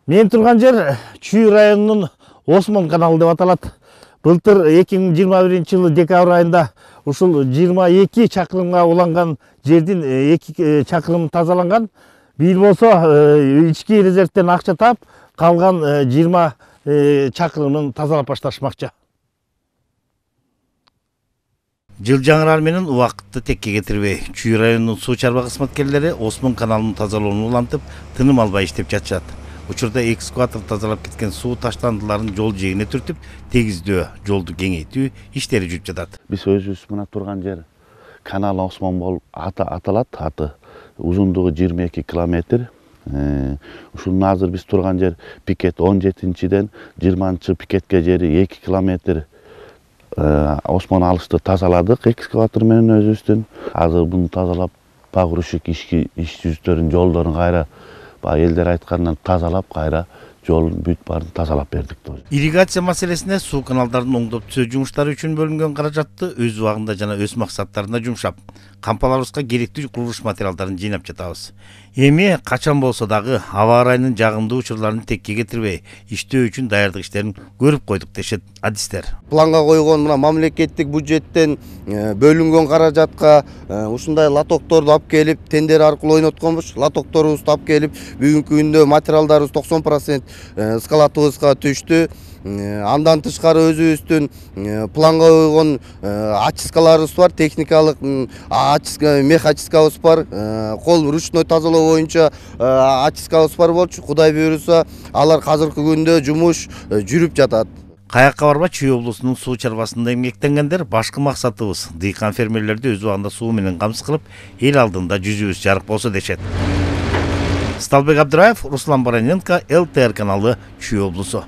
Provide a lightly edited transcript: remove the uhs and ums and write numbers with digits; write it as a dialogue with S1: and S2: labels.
S1: Мен турган жер Чүй районунун Осмон каналы деп аталат. Былтыр 2021 декабрь айында ушул 22 чакырымга уланган жердин 2 чакырым тазаланган. Бир болсо ички резервден акча таап, калган 20 чакырымын тазалап башташмакчы. Жыл жаңырар менен убакытты текке кетирбей, Чүй районунун суу чарба кызматкерлери Осмон каналынын тазалоону улантып, тыным албай иштеп жатышат. Учурда экскаватор тазалап кеткен суу таштандыларын жол жээгине түртүп, тегиздөө, жолду кеңейтүү иштери жүрүп жатат.
S2: Биз өзүбүз мына турган жер канал Осмон болуп аталат. Аты узундугу 22 километр. Ушунун азыр биз турган жер пикет 17-ден 20 пикетке жери 2 километр Осмон алышты тазаладык экскаватор менен өзүбүздүн. Азыр буну тазалап, погрузчик иш жүздөрүн, жолдорун кайра элдер айткандан тазалап, кайра жолун бүт баарын тазалап бердик.
S1: Ирригация маселесине суу каналдарын оңдоп түзөө жумуштары үчүн бөлүнгөн каражатты өз убагында жана өз максаттарына жумшап, кампаларыбызга керектүү курулуш материалдарын жыйнап жатабыз. Эми качан болсо дагы аба ырайынын жагымдуу учурларын текке кетирбей, иштөө үчүн даярдык иштерин көрүп койдук дешет адистер.
S3: Планга койгон мына мамлекеттик бюджеттен бөлүнгөн каражатка ушундай лотокторду алып келип, тендер аркылуу ойнотконбуз. Лотокторубузду алып келип, бүгүнкү күндө материалдарыбыз 90% скалатыбызга түштү. Андан тышкары өзүбүздүн планга койгон очисткаларыбыз бар, техникалык мех очисткабыз бар, кол ручной тазалоо боюнча очисткабыз бар болчу. Кудай буйруса, алар азыркы күндө жумуш жүрүп жатат.
S1: Каякка барба, Чүй облусунун суу чарбасында эмгектенгендер башкы максатыбыз дыйкан фермерлерди өз убагында суу менен камсыз кылып, эл алдында жүзүбүз жарык болсо дешет. Сталбек Абдыраев, Руслан Бараненко, ЛТР каналы, Чүй облусу.